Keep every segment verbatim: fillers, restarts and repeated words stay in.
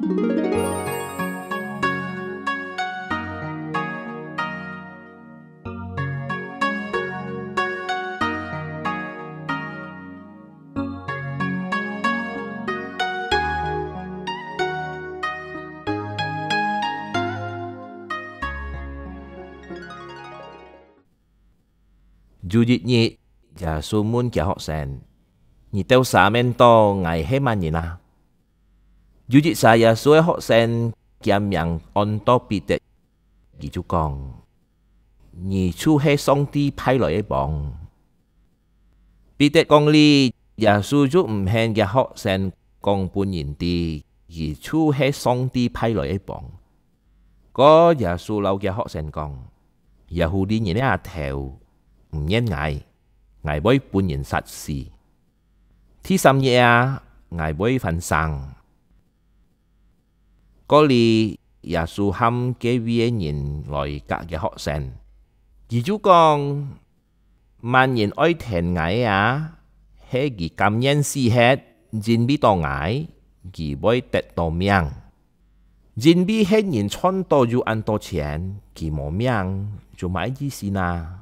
有一日，耶穌問厥學生：「你兜儕面到𠊎係麼人啊？」有一儕耶穌个學生，厥名安到彼得，佢就講：「你就係上帝派來个王。」彼得講這，耶穌就毋肯厥學生講分人知，佢就係上帝派來个王。 該耶穌摎厥學生講：「這狐狸人个阿頭，毋認𠊎，𠊎會分人殺死。第三日啊，𠊎會翻生。」過了，耶穌喊該位个人來佮厥學生，佢就講：「麼人愛跈𠊎个啊，係佢甘願死忒，因為到𠊎，佢會得到命。因為係人賺到有恁多錢，佢無命，就麼个意思呢？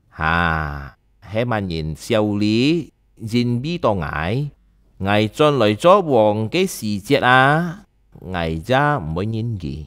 哈，係麼人笑你，因為到𠊎，𠊎轉來做王个時節啊，𠊎也毋會認佢。」